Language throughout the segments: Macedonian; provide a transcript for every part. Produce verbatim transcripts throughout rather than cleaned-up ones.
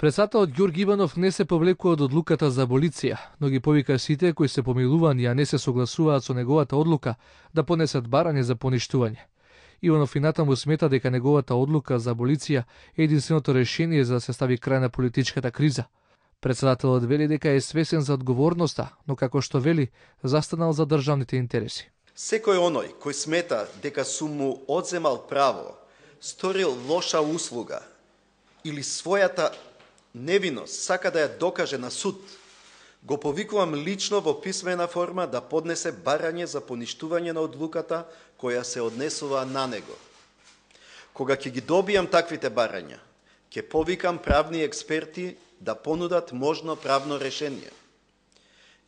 Председателот Ѓорги Иванов не се повлекува од одлуката за аболиција, но ги повика сите кои се помилувани, а не се согласуваат со неговата одлука, да понесат барање за поништување. Иванов и натаму смета дека неговата одлука за аболиција е единственото решение за да се стави крај на политичката криза. Председателот вели дека е свесен за одговорноста, но како што вели, застанал за државните интереси. Секој оној кој смета дека су му одземал право, сторил лоша услуга или својата невиност сака да ја докаже на суд, го повикувам лично во писмена форма да поднесе барање за поништување на одлуката која се однесува на него. Кога ќе ги добијам таквите барања, ќе повикам правни експерти да понудат можно правно решение.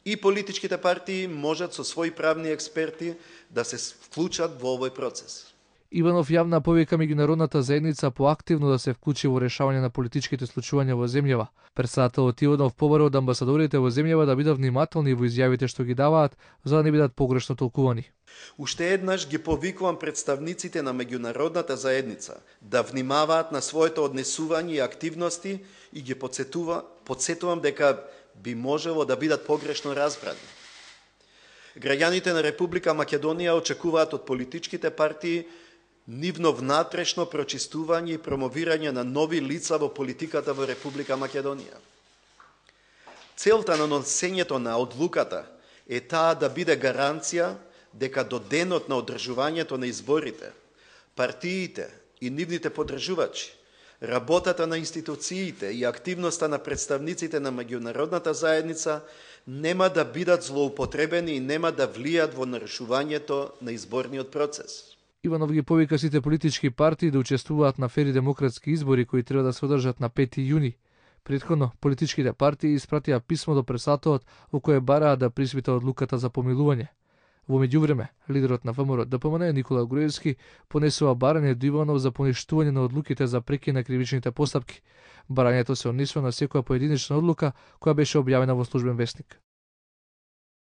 И политичките партии можат со своји правни експерти да се вклучат во овој процес. Иванов јавна повика меѓународната заедница поактивно да се вклучи во решавање на политичките случувања во земјава. Председателот Иванов побара од амбасадорите во земјава да бидат внимателни во изјавите што ги даваат, за да не бидат погрешно толкувани. Уште еднаш ги повикувам представниците на меѓународната заедница да внимаваат на своето однесување и активности и ги подсетува, подсетувам дека би можело да бидат погрешно разбрани. Граѓаните на Република Македонија очекуваат од политичките партии нивно внатрешно прочистување и промовирање на нови лица во политиката во Република Македонија. Целта на носењето на одлуката е таа да биде гаранција дека до денот на одржувањето на изборите, партиите и нивните поддржувачи, работата на институциите и активноста на представниците на меѓународната заедница нема да бидат злоупотребени и нема да влијат во нарушувањето на изборниот процес. Иванов ги повика сите политички партии да учествуваат на фери демократски избори кои треба да се одржат на пети јуни. Претходно, политичките партии испратија писмо до председателот во кое бараа да приспита одлуката за помилување. Во меѓувреме, лидерот на ВМРО Д П М Н Никола Груевски понесува барање до Иванов за поништување на одлуките за прекин на кривичните постапки. Барањето се однесува на секоја поединечна одлука која беше објавена во Службен весник.